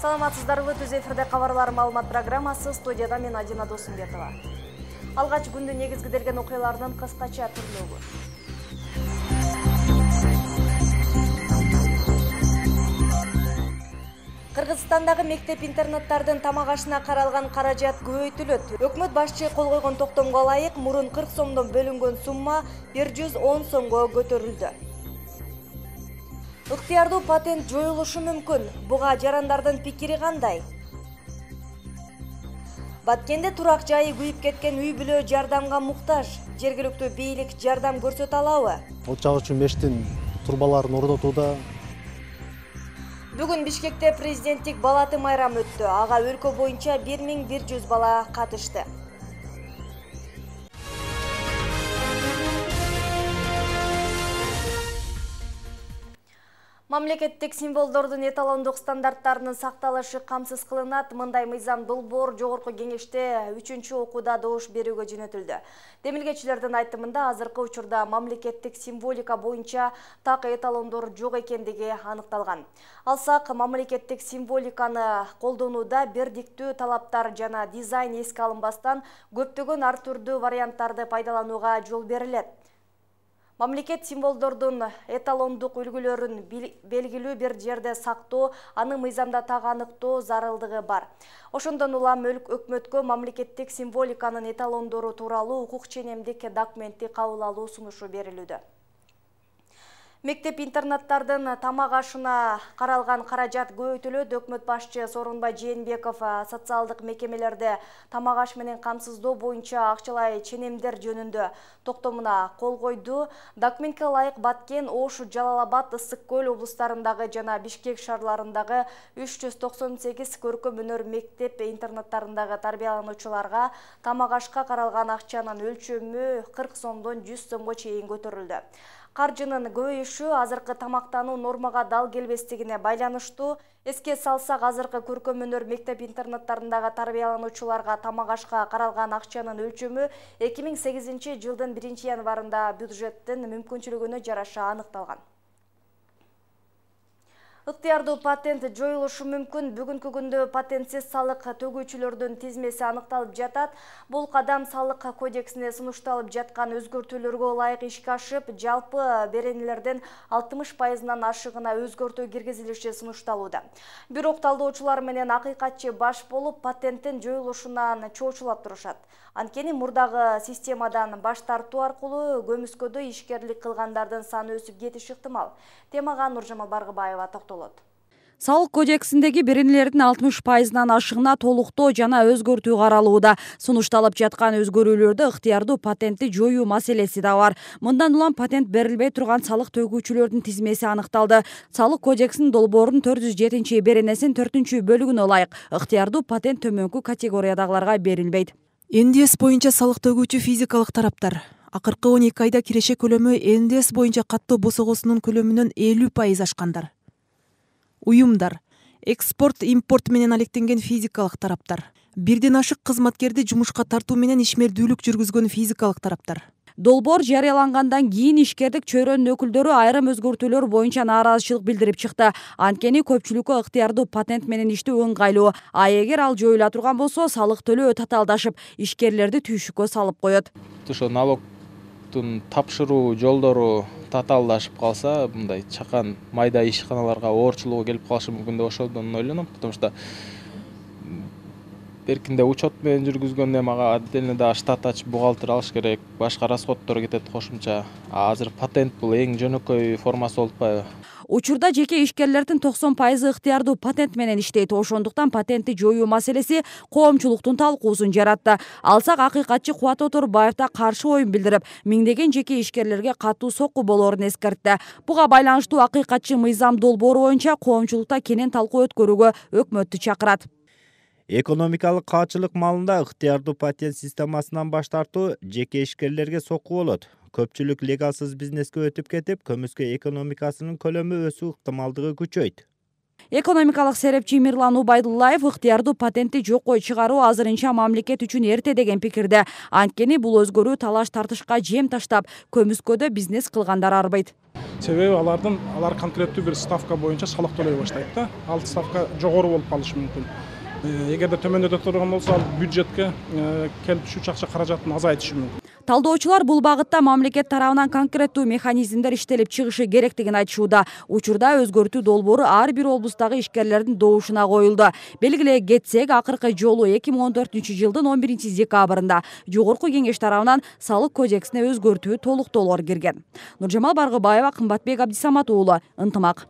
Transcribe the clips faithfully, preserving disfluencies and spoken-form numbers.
Саламатсыздарбы, түз эфирде кабарлар маалымат программасы, студияда мен Адина Досумбетова. Алгач күндүн негизгиделген окуяларынын кыскача түрлөгү. Кыргызстандагы мектеп-интернаттардын тамак ашына каралган каражат көбөйтүлөт. Өкмөт башчы кол койгон токтомго ылайык мурун кырк сомдон бөлүнгөн сумма бир жүз он сомго көтөрүлдү. Ыктыярдуу патент жоюлушу мүмкүн. Буга жарандардын пикири кандай? Баткенде турак жайы күйүп кеткен үй бүлө жардамга муктаж. Жергиликтүү бийлик жардам көрсөтө алабы? Ол жагы үчүн мештин турбаларын орнотууда. Бүгүн Бишкекте президенттик балаты майрамы өттү. Ага өлкө боюнча бир миң бир жүз бала катышты. Мамлекеттик символдордун эталондук стандарттарынын сакталышы камсыз кылынат. Мындай мыйзам долбоор жогорку кеңеште үчүнчү окууда добуш берүүгө жөнөтүлдү. Демилгечилердин айтымында азыркы учурда мамлекеттик символика боюнча так эталондор жок экендиги аныкталган. Алсак, мамлекеттик символиканы колдонууда бирдиктүү талаптар жана дизайн эске алынбастан көптөгөн ар түрдүү варианттарды пайдаланууга жол берилет. Мамлекет символдордун эталондук үлгүлөрүн белгилүү бир жерде сактоо, аны мыйзамда так аныктоо зарылдыгы бар. Ошондон улам өкмөткө мамлекеттик символиканын эталондору тууралуу укук ченемдик документти кабыл алуу сунушу берилүүдө. Мектеп-интернаттардын тамак ашына каралган каражат көбөйтүлөт. Өкмөт башчы Сооронбай Жээнбеков социалдык мекемелерде тамак аш менен камсыздоо боюнча акчалай ченемдер жөнүндө токтомуна кол койду. Документке ылайык Баткен, Ош, Жалал Абад, Ысык Көл облустарындагы жана Бишкек шаарларындагы үч жүз токсон сегиз көркөм өнөр мектеп-интернаттарындагы тарбиялануучуларга тамак ашка каралган акчанын өлчөмү кырк сомдон жүз сомго чейин көтөрүлдү. Каржынын көбөйүшү азыркы тамактануу нормага дал келбестигине байланыштуу. Эске салсак, азыркы көркөм өнөр мектеп-интернаттарындагы тарбиялануучуларга тамак ашка каралган акчанын өлчөмү эки миң сегизинчи жылдын биринчи январында бюджеттин мүмкүнчүлүгүнө жараша аныкталган. Ыктыярдуу патент жоюлушу мүмкүн. Бүгүнкү күндө патентсиз салык төгүүчүлөрдүн тизмеси аныкталып жатат. Бул кадам салык кодексине сунушталып жаткан өзгөртүүлөргө ылайык ишке ашып, жалпы беренелердин алтымыш пайызынан ашыгына өзгөртүү киргизилиши сунушталууда. Бирок талдоочулар менен акыйкатчы баш болуп, патенттин жоюлушунан чоочулап турушат. Анткени мурдагы системадан баш тартуу аркылуу көмүскөдө ишкерлик кылгандардын саны өсүп кетиши ыктымал. Темага Нуржамал Баргыбаева токтолот. Салык кодексиндеги беренелердин алтымыш пайызынан ашыгына толуктоо жана өзгөртүү каралууда. Сунушталып жаткан өзгөрүүлөрдө ыктыярдуу патентти жоюу маселеси да бар. Мындан улам патент берилбей турган салык төгүүчүлөрдүн тизмеси аныкталды. Салык кодексинин долбоорунун төрт жүз жетинчи беренесинин төртүнчү бөлүгүнө ылайык ыктыярдуу патент төмөнкү категориядагыларга берилбейт. эн дэ эс боюнча салык төгүүчү физикалык тараптар акыркы он эки айда киреше көлөмү эн дэ эс боюнча каттоо босогосунун көлөмүнөн элүү пайыз ашкандар. Уюмдар, экспорт, импорт менен алектенген физикалык тараптар, бирден ашык кызматкерди жумушка тартуу менен ишмердүүлүк жүргүзгөн физикалык тараптар. Долбоор жарыялангандан кийин ишкердик чөйрөнүн өкүлдөрү айрым өзгөртүүлөр боюнча нааразычылык билдирип чыкты. Анткени көпчүлүккө ыктыярдуу патент менен иштөө ыңгайлуу. А эгер ал жоюла турган болсо, салык төлөө татаалдашып, ишкерлерди түйшүккө салып коет. Ошо налогтун тапшыруу жолдору татаалдашып калса, мындай чакан майда ишканаларга оорчулугу келип калышы мүмкүн деп ошодон ойлоном, потому что беркинде учет менен жүргүзгөндө мага отдельно да штат ачып бухгалтер алыш керек, башка расходдор кетет кошумча. А азыр патент бул эң жөнөкөй формасы болуп атпайбы? Учурда жеке ишкерлердин токсон пайызы ыктыярдуу патент менен иштейт. Ошондуктан патентти жоюу маселеси коомчулуктун талкуусун жаратты. Алсак, акыйкатчы Кубат Оторбаев да каршы оюн билдирип, миңдеген жеке ишкерлерге катуу сокку болоорун эскертти. Буга байланыштуу акыйкатчы мыйзам долбоору боюнча коомчулукта кенен талкуу өткөрүүгө өкмөттү чакырат. Экономикалык каачылык маалында ыктыярдуу патент системасынан баш тартуу жеке ишкерлерге сокку болот. Көпчүлүк легалсыз бизнеске өтүп кетип, көмүскө экономикасынын көлөмү өсүү ыктымалдыгы күчөйт. Экономикалык серепчи Мирлан Убайдуллаев ыктыярдуу патентти жокко чыгаруу азырынча мамлекет үчүн эрте деген пикирде. Анткени бул өзгөрүү талаш тартышка жем таштап, көмүскөдө бизнес кылгандар арбайт. Себеби алардын алар конкреттүү бир ставка боюнча салык төлөй баштайт да. Ал ставка жогору болуп калышы мүмкүн. Эгерде төмөндөтө турган болсо, ал бюджетке келип түшүүчү акча каражатын азайтышы мүмкүн. Талдоочулар бул багытта мамлекет тарабынан конкреттүү механизмдер иштелип чыгышы керектигин айтышууда. Учурда өзгөртүү долбоору ар бир облустагы ишкерлердин добушуна коюлду. Белгилей кетсек, акыркы жолу эки миң он төртүнчү жылдын он биринчи декабрында Жогорку Кеңеш тарабынан салык кодексине өзгөртүү толуктоолор кирген. Нуржамал Баргыбаева, Кымбатбек Абдисамат уулу, Ынтымак.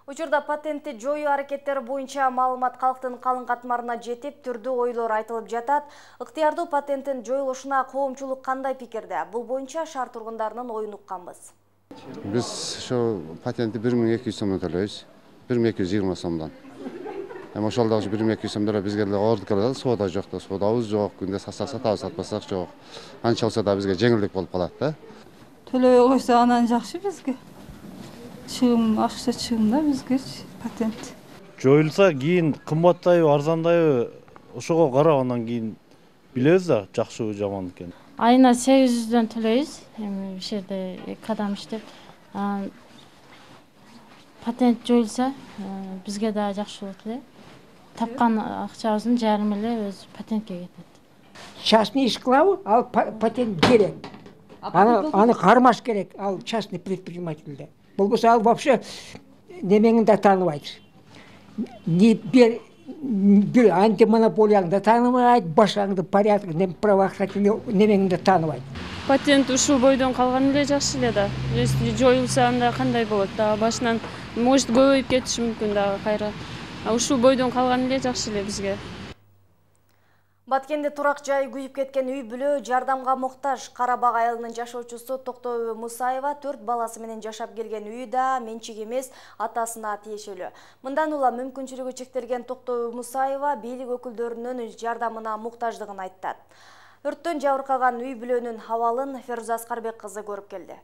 Учурда патентти жоюу аракеттери боюнча маалымат калктын калың катмарына жетип, түрдүү ойлор айтылып жатат. Ыктыярдуу патенттин жоюлушуна коомчулук кандай пикирде? Бул боюнча шаар тургундарынын оюн укканбыз. Биз ошо патентти бир миң эки жүз сомдон төлөйбүз. бир миң эки жүз жыйырма сомдон. Эми ошол дагы бир миң эки жүз сомдон бизге деле оордук келет, соода жок да, соодабыз жок, күндө сатсак сатабыз, сатпасак жок. Анча болсо да бизге жеңилдик болуп калат да. Төлөбөй койсо анан жакшы бизге. Чыгым, акча чыгым да бизге патент. Жоюлса кийин кымбаттайбы, арзандайбы, ошого карап анан кийин билебиз да, жакшыбы, жаман экенин. Айына сегиз жүздөн төлөйбүз. Эми иш жерде эки адам иштеп, патент жоюлса, бизге да жакшы болот эле. Тапкан акчабыздын жарымы эле өз патентке кетет. Частный иш кылабы, ал патент керек. Аны аны кармаш керек, ал частный предпринимательде. Болбосо ал вообще немеңин да тааныбайт. Не бир бир антимонополияны да тааныбайт, башаңды порядок, правоохранительный немеңин да тааныбайт. Патент ушул бойдон калган эле жакшы эле да. Если жоюлса анда кандай болот да, башынан может көбөйүп кетиши мүмкүн дагы кайра. А ушул бойдон калган эле жакшы эле бизге. Баткенде турак жай күйүп кеткен үй бүлө жардамга муктаж. Карабак айылынын жашоочусу Токтообү Мусаева төрт баласы менен жашап келген үйү да менчик эмес, атасына тиешелүү. Мындан улам мүмкүнчүлүгү чектелген Токтообү Мусаева бийлик өкүлдөрүнүн жардамына муктаждыгын айттат. Өрттөн жабыркаган үй бүлөнүн абалын Феруза Аскарбек кызы көрүп келди.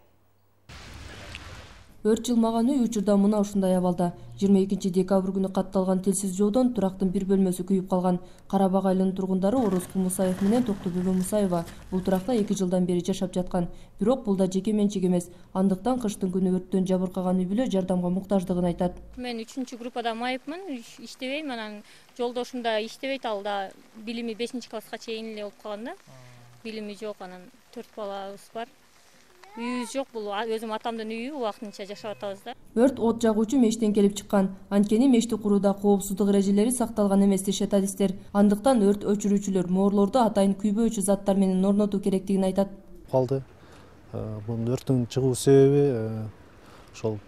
Өрт жылмаган үй учурда мына ушундай абалда. жыйырма экинчи декабрь күнү катталган телсиз жоодон турактын бир бөлмөсү күйүп калган. Карабак айылынын тургундары Орозкул Мусаев менен Токтообү Мусаева бул туракта эки жылдан бери жашап жаткан. Бирок бул да жеке менчик эмес. Андыктан кыштын күнү өрттөн жабыркаган үй бүлө жардамга муктаждыгын айтат. Мен үчүнчү группада майыпмын, иштебейм, анан жолдошум да иштебейт, ал да билими бешинчи класска чейин эле болуп калган да. Билими жок, анан төрт балабыз бар. Үйүбүз жок, бул өзүм атамдын үйү, убактынча жашап атабыз да. Өрт от жагуучу мештен келип чыккан. Анткени мешти курууда коопсуздук эрежелери сакталган эмес дешет адистер. Андыктан өрт өчүрүүчүлөр моорлорду атайын күйбөөчү заттар менен орнотуу керектигин айтат. Калды. Бунун өрттүн чыгуу себеби ошол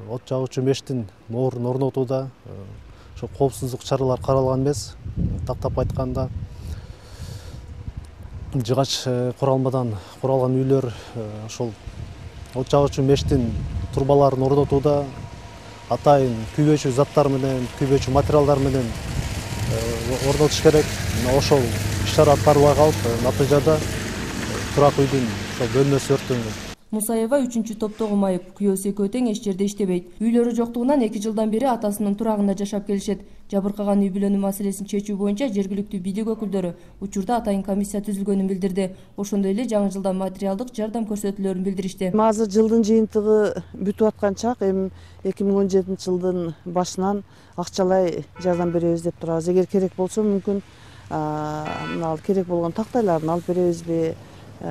от жагуучу мештин моорун орнотууда ошо коопсуздук чаралар каралган эмес. Тактап айтканда жыгач куралмадан куралган үйлөр ошол от жагуучу мештин турбаларын орнотууда атайын күйбөөчү заттар менен, күйбөөчү материалдар менен орнотуш керек. Ошол иш-чара аткарылбай калып, натыйжада турак үйдүн ошол бөлмөсү өрттөнгөн. Мусаева үчүнчү топтогу майып, күйөөсү экөө тең эч жерде иштебейт. Үйлөрү жоктугунан эки жылдан бери атасынын турагында жашап келишет. Жабыркаган үй бүлөнүн маселесин чечүү боюнча жергиликтүү бийлик өкүлдөрү учурда атайын комиссия түзүлгөнүн билдирди. Ошондой эле жаңы жылда материалдык жардам көрсөтүүлөрүн билдиришти. Азыр жылдын жыйынтыгы бүтүп аткан чак, эми эки миң он жетинчи жылдын башынан акчалай жардам беребиз деп турабыз. Эгер керек болсо мүмкүн мына керек болгон тактайларын алып беребизби?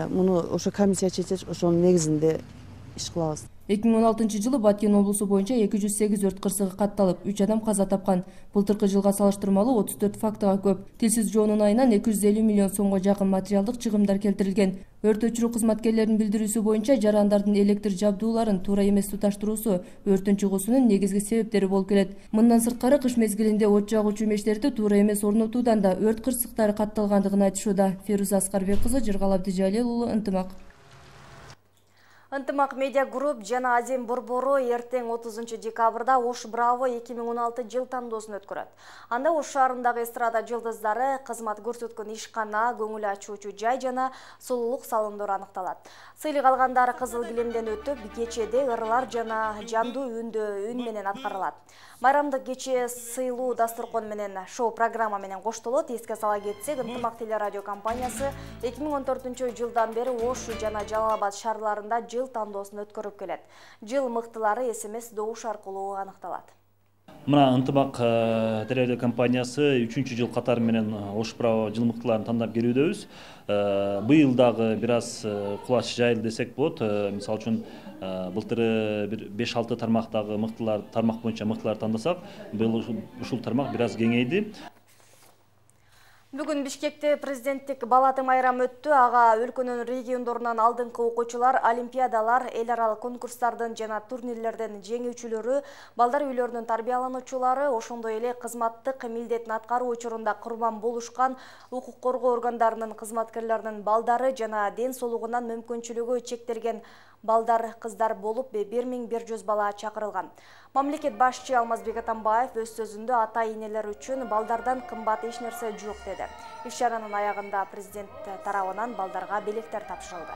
Муну ошо комиссия чечет, ошонун негизинде иш кылабыз. эки миң он алтынчы жылы Баткен облусу боюнча эки жүз сегиз өрт кырсыгы катталып, үч адам каза тапкан. Былтыркы жылга салыштырмалуу отуз төрт фактыга көп. Телсиз жоонун айынан эки жүз элүү миллион сомго жакын материалдык чыгымдар келтирилген. Өрт өчүрүү кызматкерлеринин билдирүүсү боюнча жарандардын электр жабдууларын туура эмес туташтыруусу өрттүн чыгуусунун негизги себептери болуп келет. Мындан сырткары кыш мезгилинде от жагуучу мештерди туура эмес орнотуудан да өрт кырсыктары катталгандыгын айтышууда. Феруза Аскарбек кызы, Жыргал Абдижалил уулу, Ынтымак. Ынтымак медиа групп жана Азем Борбору эртең отузунчу декабрда Ош Браво эки миң он алты жыл тандоосун өткөрөт. Анда Ош шаарындагы эстрада жылдыздары кызмат көрсөткөн ишкана, көңүл ачуучу жай жана сулуулук салондор аныкталат. Сыйлык алгандар кызыл килемден өтүп, кечеде ырлар жана жандуу үндө үн менен аткарылат. Майрамдык кече сыйлуу дасторкон менен шоу программа менен коштолот. Эске сала кетсек, Ынтымак телерадио компаниясы эки миң он төртүнчү жылдан бери Ош жана Жалал Абад шаарларында жыл жыл тандоосун өткөрүп келет. Жыл мыктылары эс эм эс добуш аркылуу аныкталат. Мына ынтымак телерадио компаниясы үчүнчү жыл катары менен ош право жыл мыктыларын тандап келүүдөбүз. Быйыл дагы бир аз кулач жайылды десек болот. Мисалы үчүн былтыры бир беш алты тармактагы мыктылар тармак боюнча мыктылар тандасак, быйыл ушул тармак бир аз кеңейди. Бүгүн Бишкекте президенттик балаты майрамы өттү. Ага өлкөнүн региондорунан алдыңкы окуучулар, олимпиадалар, эл аралык конкурстардын жана турнирлерден жеңүүчүлөрү, балдар үйлөрүнүн тарбиялануучулары, ошондой эле кызматтык милдетин аткаруу учурунда курман болушкан укук коргоо органдарынын кызматкерлеринин балдары жана ден соолугунан мүмкүнчүлүгү чектелген балдар, кыздар болуп бир миң бир жүз бала чакырылган. Мамлекет башчы Алмазбек Атамбаев өз сөзүндө ата-энелер үчүн балдардан кымбат эч нерсе жок деди. Иш-чаранын аягында президент тарабынан балдарга белектер тапшырылды.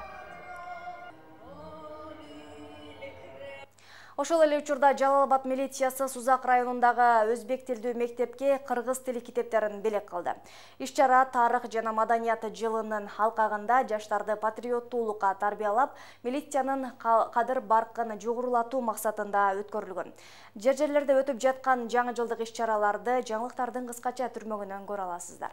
Ошол эле учурда Жалал-Абад милициясы Сузак районундагы өзбек тилдүү мектепке кыргыз тили китептерин белек кылды. Иш-чара тарых жана маданият жылынын алкагында жаштарды патриоттуулукка тарбиялап, милициянын кадыр-баркын жогорулатуу максатында өткөрүлгөн. Жер-жерлерде өтүп жаткан жаңы жылдык иш-чараларды жаңылыктардын кыскача түрмөгүнөн көрө аласыздар.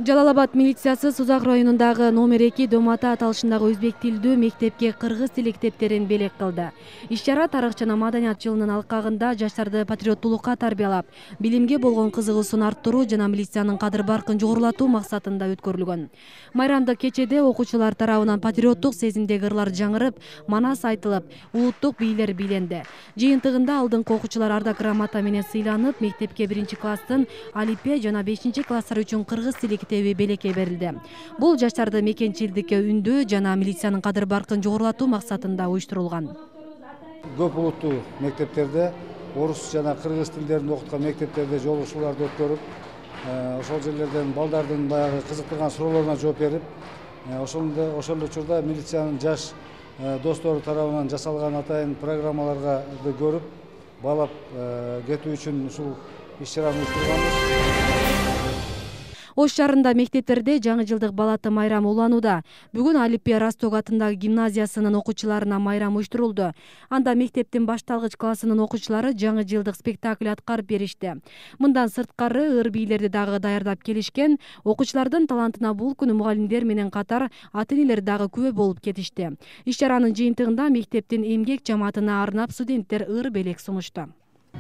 Жалал-Абад милициясы Сузак районундагы номер эки Домата аталышындагы өзбек тилдүү мектепке кыргыз тили китептерин белек кылды. Иш-чара тарых жана маданият жылынын алкагында жаштарды патриоттуулукка тарбиялап, билимге болгон кызыгуусун арттыруу жана милициянын кадыр-баркын жогорулатуу максатында өткөрүлгөн. Майрамдык кечеде окуучулар тарабынан патриоттук сезимдеги ырлар жаңырып, манас айтылып, улуттук бийлер биленди. Жыйынтыгында алдыңкы окуучулар ардак грамота менен сыйланып, мектепке биринчи класстын алипе жана бешинчи класстар үчүн кыргыз тили китеби белекке берилди. Бул жаштарды мекенчилдикке үндөө жана милициянын кадыр-баркын жогорулатуу максатында уюштурулган. Көп улуттуу мектептерде орус жана кыргыз тилдерин окуткан мектептерде жолугушууларды өткөрүп, ошол жерлерден балдардын баягы кызыктырган суроолоруна жооп берип, ошондо ошол учурда милициянын жаш достору тарабынан жасалган атайын программаларга көрүп, баалап кетүү үчүн ушул иш-чараны уюштурганбыз. Ош шаарында мектептерде жаңы жылдык балаты майрамы уланууда. Бүгүн Алипе Росток атындагы гимназиясынын окуучуларына майрам уюштурулду. Анда мектептин башталгыч классынын окуучулары жаңы жылдык спектакль аткарып беришти. Мындан сырткары ыр бийлерди дагы даярдап келишкен. Окуучулардын талантына бул күнү мугалимдер менен катар ата-энелер дагы күбө болуп кетишти. Иш-чаранын жыйынтыгында мектептин эмгек жамаатына арнап студенттер ыр белек сунушту.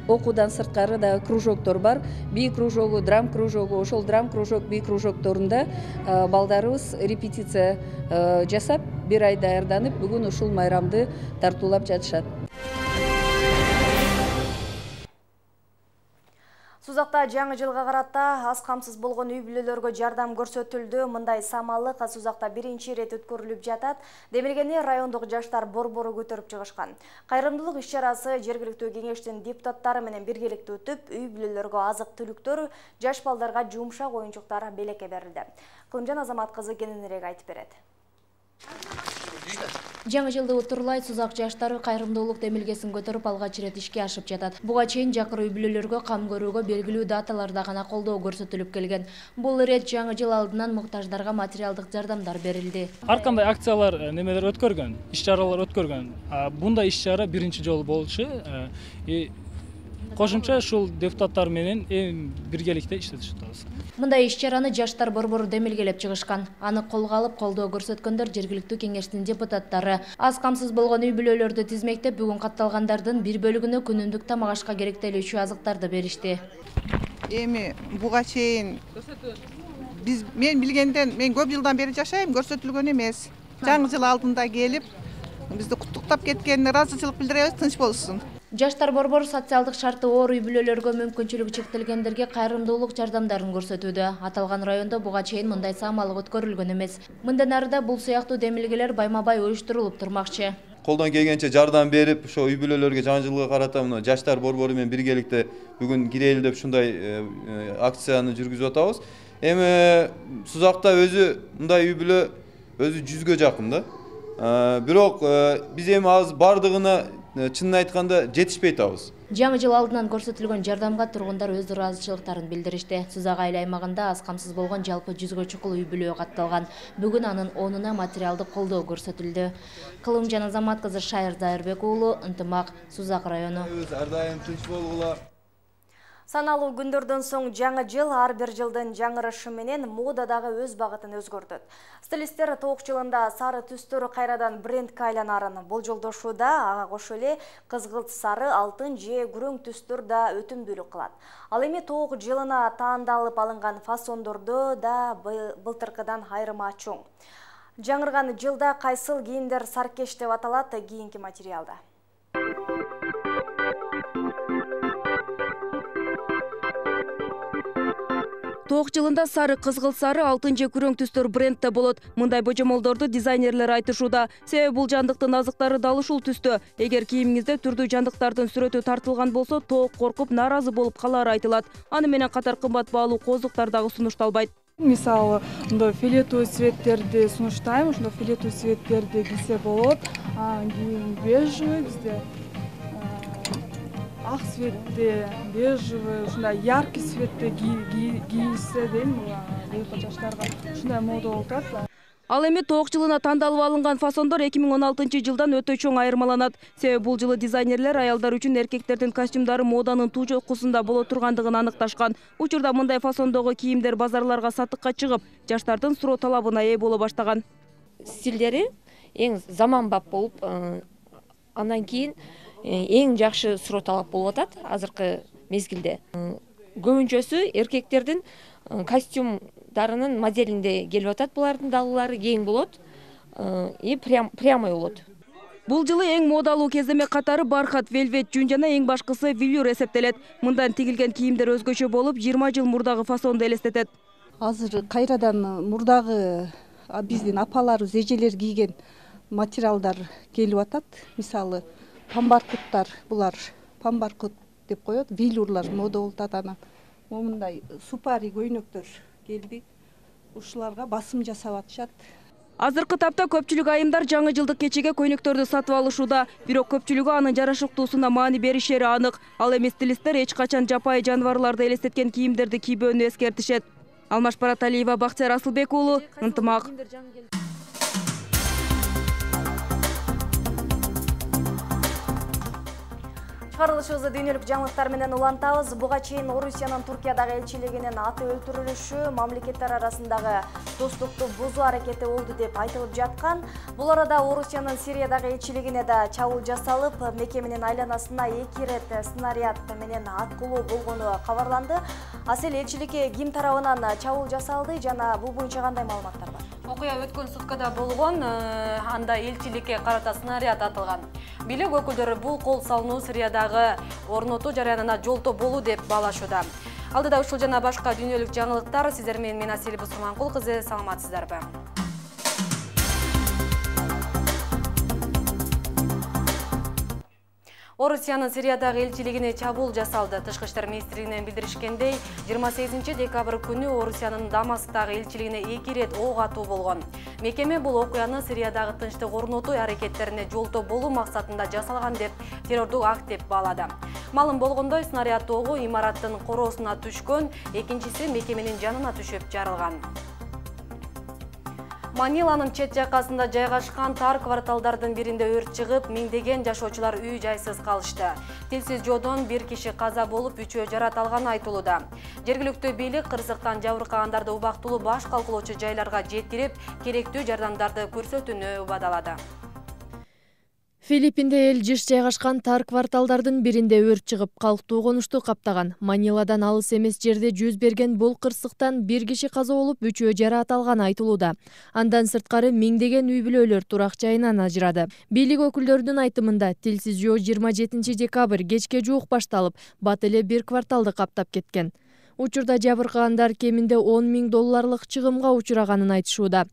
Окуудан сырткары дагы кружоктор бар. Би кружогу, драм кружогу, ошол драм кружок, би кружокторунда балдарыбыз репетиция жасап, бир ай даярданып, бүгүн ушул майрамды тартуулап жатышат. Сузакта жаңы жылга карата аз камсыз болгон үй бүлөлөргө жардам көрсөтүлдү. Мындай самалык Сузакта биринчи ирет өткөрүлүп жатат. Демилгени райондук жаштар борбору көтөрүп чыгышкан. Кайрымдуулук иш-чарасы жергиликтүү кеңештин депутаттары менен биргеликте өтүп, үй бүлөлөргө азык-түлүктөр, жаш балдарга жумшак оюнчуктар белекке берилди. Кылымжан Азамат кызы кененирээк айтып берет. Жаңы жылды утурлай Сузак жаштары кайрымдуулук демилгесин көтөрүп алгач ирет ишке ашып жатат. Буга чейин жакыр үй бүлөлөргө кам көрүүгө белгилүү даталарда гана колдоо көрсөтүлүп келген. Бул ирет жаңы жыл алдынан муктаждарга материалдык жардамдар берилди. Ар кандай акциялар, немелер өткөргөн, иш-чаралар өткөргөн. Бундай иш-чара биринчи жолу болчу. Кошумча ушул депутаттар менен эң биргеликте иштетип жатабыз. Мындай иш-чараны жаштар борбору демилгелеп чыгышкан. Аны колго алып колдоо көрсөткөндөр жергиликтүү кеңештин депутаттары. Аз камсыз болгон үй бүлөлөрдү тизмектеп, бүгүн катталгандардын бир бөлүгүнө күнүмдүк тамак ашка керектелүүчү азыктарды беришти. Эми буга чейин биз мен билгенден мен көп жылдан бери жашайм, көрсөтүлгөн эмес. Жаңы жыл алдында келип, бизди куттуктап кеткенине ыраазычылык билдиребиз, тынч болушсун. Жаштар борбору социалдык шарты оор үй бүлөлөргө мүмкүнчүлүгү чектелгендерге кайрымдуулук жардамдарын көрсөтүүдө. Аталган райондо буга чейин мындай самалык өткөрүлгөн эмес. Мындан арыда бул сыяктуу демилгелер байма-бай уюштурулуп турмакчы. Колдон келгенче жардам берип, ошо үй бүлөлөргө жаңы жылга карата мына жаштар борбору менен биргеликте бүгүн кирели деп ушундай акцияны жүргүзүп атабыз. Эми Сузакта өзү мындай үй бүлө өзү жүзгө жакын да. Бирок биз эми азыр бардыгына чынын айтканда жетишпей атабыз. Жаңы жыл алдынан көрсөтүлгөн жардамга тургундар өз ыраазычылыктарын билдиришти. Сузак айыл аймагында аз камсыз болгон жалпы жүзгө чукул үй бүлө катталган. Бүгүн анын онуна материалдык колдоо көрсөтүлдү. Кылым жана Азамат кызы Шайыр Зайырбек уулу, Ынтымак, Сузак району. Ар дайым тынч болгула. Саналуу күндөрдөн соң жаңы жыл ар бир жылдын жаңырышы менен модадагы өз багытын өзгөртөт. Стилисттер тоок жылында сары түстөр кайрадан брендке айланарын болжолдошууда, ага кошо эле кызгылт сары, алтын же күрөң түстөр да өтүмдүүлүк кылат. Ал эми тоок жылына таандалып алынган фасондордо да былтыркыдан айырма чоң. Жаңырган жылда кайсыл кийимдер саркеш деп аталат кийинки материалда. Тоок жылында сары, кызгылт сары, алтын же күрөң түстөр брендте болот. Мындай божомолдорду дизайнерлер айтышууда. Себеби бул жандыктын азыктары дал ушул түстө. Эгер кийимиңизде түрдүү жандыктардын сүрөтү тартылган болсо, тоок коркуп, нааразы болуп калары айтылат. Аны менен катар кымбат баалуу кооздуктар дагы сунушталбайт. Мисалы, мындай фиолетовый цветтерди сунуштайм, ошондой фиолетовый цветтерди кийсе болот. Анан кийин бежевый бизде ак цветте, бежевый, ушундай яркий цветте кийилсе дейм, быйылкы жаштарга ушундай мода болуп атат. Ал эми тоок жылына тандалып алынган фасондор эки миң он алтынчы жылдан өтө чоң айырмаланат. Себеби бул жылы дизайнерлер аялдар үчүн эркектердин костюмдары моданын туу жокусунда боло тургандыгын аныкташкан. Учурда мындай фасондогу кийимдер базарларга сатыкка чыгып, жаштардын суроо талабына ээ боло баштаган. Стилдери эң заманбап болуп, андан кийин эң жакшы суроо талап болуп атат азыркы мезгилде. Көбүнчөсү эркектердин костюмдарынын моделинде келип атат. Булардын далылары кең болот и прямой болот. Бул жылы эң модалуу кеземе катары бархат, велвет, жүн жана эң башкысы велюр эсептелет. Мындан тигилген кийимдер өзгөчө болуп, жыйырма жыл мурдагы фасонду элестетет. Азыр кайрадан мурдагы биздин апаларыбыз, эжелер кийген материалдар келип атат. Мисалы, памбаркуттар, булар памбаркут деп коет, велюрлар мода болуп атат. Анан момундай супари көйнөктөр келди. Ушуларга басым жасап атышат. Азыркы тапта көпчүлүк айымдар жаңы жылдык кечеге көйнөктөрдү сатып алышууда. Бирок көпчүлүгү анын жарашыктуусуна маани беришери анык. Ал эми стилисттер эч качан жапайы жаныбарларды элестеткен кийимдерди кийбөөнү эскертишет. Алмаш Бараталиева, Бактияр Асылбек уулу, Ынтымак. Чыгарылышыбызды дүйнөлүк жаңылыктар менен улантабыз. Буга чейин Орусиянын Туркиядагы элчилигинин аты өлтүрүлүшү мамлекеттер арасындагы достукту бузуу аракети болду деп айтылып жаткан. Бул арада Орусиянын Сириядагы элчилигине да чабуул жасалып, мекеменин айланасына эки ирет снаряд менен аткылуу болгону кабарланды. Асел элчиликке ким тарабынан чабуул жасалды жана бул боюнча кандай маалыматтар бар? Окуя өткөн суткада болгон, анда элчиликке карата снаряд атылган. Бийлик өкүлдөрү бул кол салынуу Сириядагы орнотуу жарыянына жолтоо болуу деп баалашууда. Алдыда ушул жана башка дүйнөлүк жаңылыктар сиздер менен мен Асель Бусурманкул кызы, саламатсыздарбы? Орусиянын Сириядагы элчилигине чабуул жасалды. Тышкы иштер министрлигинен билдиришкендей, жыйырма сегизинчи декабрь күнү Орусиянын Дамасктагы элчилигине эки ирет ок атуу болгон. Мекеме бул окуяны Сириядагы тынчтык орнотуу аракеттерине жолтоо болуу максатында жасалган деп террордук акт деп баалады. Малым болгондой, снаряд тогу имараттын короосуна түшкөн, экинчиси мекеменин жанына түшүп жарылган. Маниланын чет жакасында жайгашкан тар кварталдардын биринде өрт чыгып, миңдеген жашоочулар үй жайсыз калышты. Тилсиз жоодон бир киши каза болуп, үчөө жарат алганы айтылууда. Жергиликтүү бийлик кырсыктан жабыркагандарды убактылуу баш калкулоочу жайларга жеткирип, керектүү жардамдарды көрсөтүүнү убадалады. Филиппинде эл жыш жайгашкан тар кварталдардын биринде өрт чыгып, калктуу конушту каптаган. Маниладан алыс эмес жерде жүз берген бул кырсыктан бир киши каза болуп, үчөө жараат алганы айтылууда. Андан сырткары миңдеген үй бүлөлөр турак жайынан ажырады. Бийлик өкүлдөрүнүн айтымында, тилсиз жоо жыйырма жетинчи декабрь кечке жуук башталып, бат эле бир кварталды каптап кеткен. Учурда жабыркагандар кеминде он миң долларлык чыгымга учураганын айтышууда.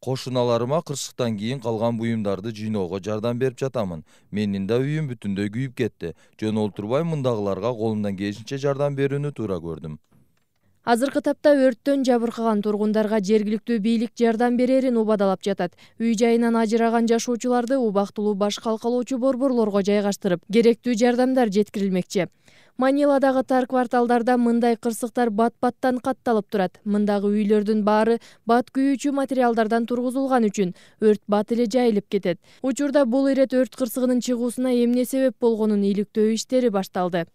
Кошуналарыма кырсыктан кийин калган буюмдарды жыйноого жардам берип жатамын. Менин да үйүм бүтүндөй күйүп кетти. Жөн олтурбай мындагыларга колумдан келишинче жардам берүүнү туура көрдүм. Азыркы тапта өрттөн жабыркаган тургундарга жергиликтүү бийлик жардам берерин убадалап жатат. Үй жайынан ажыраган жашоочуларды убактылуу баш калкалоочу борборлорго жайгаштырып, керектүү жардамдар жеткирилмекчи. Маниладагы тар кварталдарда мындай кырсыктар бат-баттан катталып турат. Мындагы үйлөрдүн баары бат күйүүчү материалдардан тургузулган үчүн өрт бат эле жайылып кетет. Учурда бул ирет өрт кырсыгынын чыгуусуна эмне себеп болгонун иликтөө иштери башталды.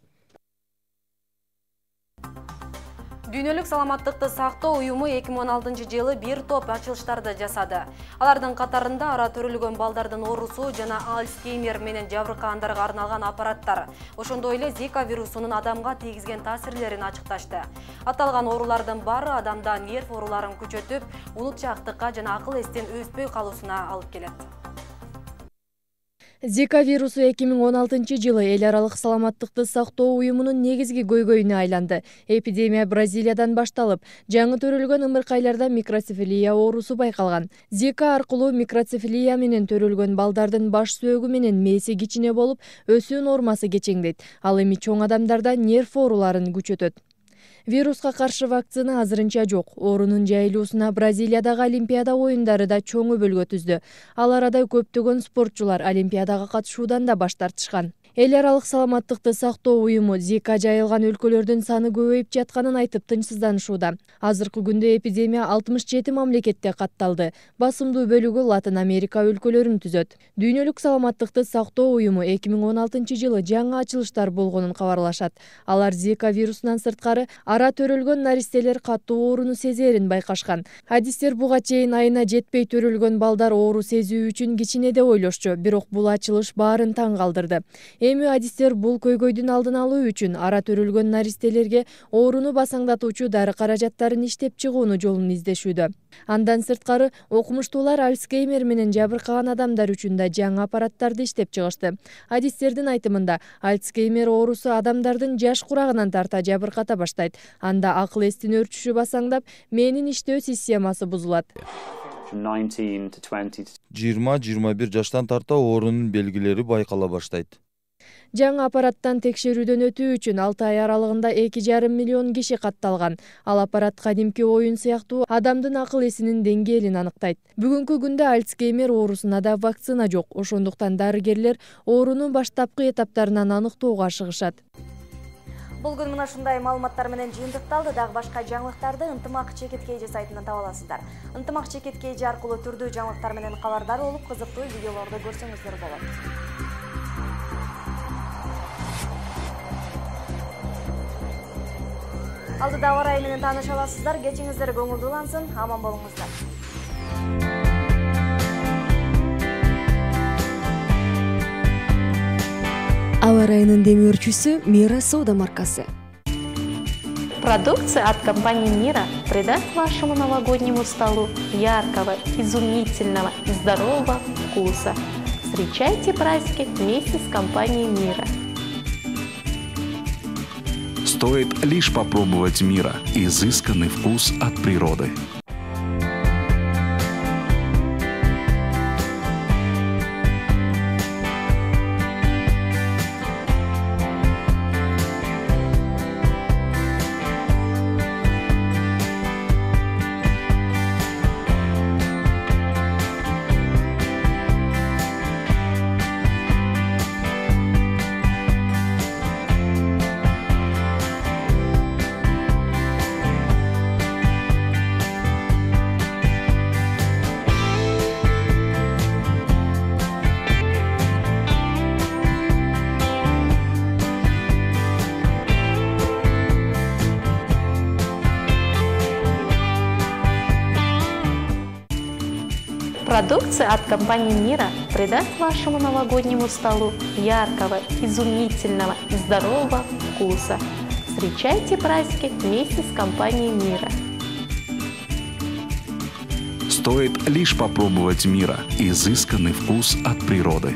Дүйнөлүк саламаттыкты сактоо уюму эки миң он алтынчы жылы бир топ ачылыштарды жасады. Алардын катарында ара төрөлгөн балдардын оорусу жана Альцгеймер менен жабыркагандарга арналган аппараттар, ошондой эле Зика вирусунун адамга тийгизген таасирлерин ачыкташты. Аталган оорулардын баары адамда нерв ооруларын күчөтүп, унутчаактыкка жана акыл эстен өспөй калуусуна алып келет. Зика вирусу эки миң он алтынчы жылы эл аралык саламаттыкты сактоо уюмунун негизги көйгөйүнө айланды. Эпидемия Бразилиядан башталып, жаңы төрөлгөн ымыркайларда микроцефалия оорусу байкалган. Зика аркылуу микроцефалия менен төрөлгөн балдардын баш сөөгү менен мээси кичине болуп, өсүү нормасы кечеңдейт. Ал эми чоң адамдарда нерв ооруларын күчөтөт. Вируска каршы вакцина азырынча жок. Оорунун жайылуусуна Бразилиядагы Олимпиада оюндары да чоң өбөлгө түздү. Ал арада көптөгөн спортчулар Олимпиадага катышуудан да баш тартышкан. Эл аралык саламаттыкты сактоо уюму Зика жайылган өлкөлөрдүн саны көбөйүп жатканын айтып тынчсызданышууда. Азыркы күндө эпидемия алтымыш жети мамлекетте катталды. Басымдуу бөлүгү Латын Америка өлкөлөрүн түзөт. Дүйнөлүк саламаттыкты сактоо уюму эки миң он алтынчы жылы жаңы ачылыштар болгонун кабарлашат. Алар Зика вирусунан сырткары ара төрөлгөн наристелер каттуу ооруну сезерин байкашкан. Адистер буга чейин айына жетпей төрөлгөн балдар оору сезүү үчүн кичине деп ойлошчу, бирок бул ачылыш баарын таң калтырды. Эми адистер бул көйгөйдүн алдын алуу үчүн ара төрөлгөн наристелерге ооруну басаңдатуучу дары каражаттарын иштеп чыгууну жолун издешүүдө. Андан сырткары окумуштуулар Альцгеймер менен жабыркаган адамдар үчүн да жаңы аппараттарды иштеп чыгышты. Адистердин айтымында, Альцгеймер оорусу адамдардын жаш курагынан тарта жабырката баштайт. Анда акыл эстин өрчүшү басаңдап, мээнин иштөө системасы бузулат. жыйырма жыйырма бир жаштан тарта оорунун белгилери байкала баштайт. Жаңы аппараттан текшерүүдөн өтүү үчүн алты ай аралыгында эки жарым миллион киши катталган. Ал аппарат кадимки оюн сыяктуу адамдын акыл эсинин деңгээлин аныктайт. Бүгүнкү күндө Альцгеймер оорусуна да вакцина жок. Ошондуктан дарыгерлер оорунун баштапкы этаптарынан аныктоого ашыгышат. Бул күн мына ушундай маалыматтар менен жыйынтыкталды. Дагы башка жаңылыктарды Ынтымак Чекиткей сайтынан таба аласыздар. Ынтымак Чекиткей аркылуу түрдүү жаңылыктар менен кабардар болуп, кызыктуу видеолорду көрсөңүздөр болот. Алдыда ауа райы менен тааныша аласыздар. Кечиңиздер көңүлдүүлансын, аман болуңуздар. Ауа райынын демөөрчүсү Мира Сода маркасы. Продукция от компании Мира придаст вашему новогоднему столу яркого, изумительного и здорового вкуса. Встречайте праздники вместе с компанией Мира. Стоит лишь попробовать Мира. Изысканный вкус от природы. Продукция от компании Мира придаст вашему новогоднему столу яркого, изумительного и здорового вкуса. Встречайте праздники вместе с компанией Мира. Стоит лишь попробовать Мира. Изысканный вкус от природы.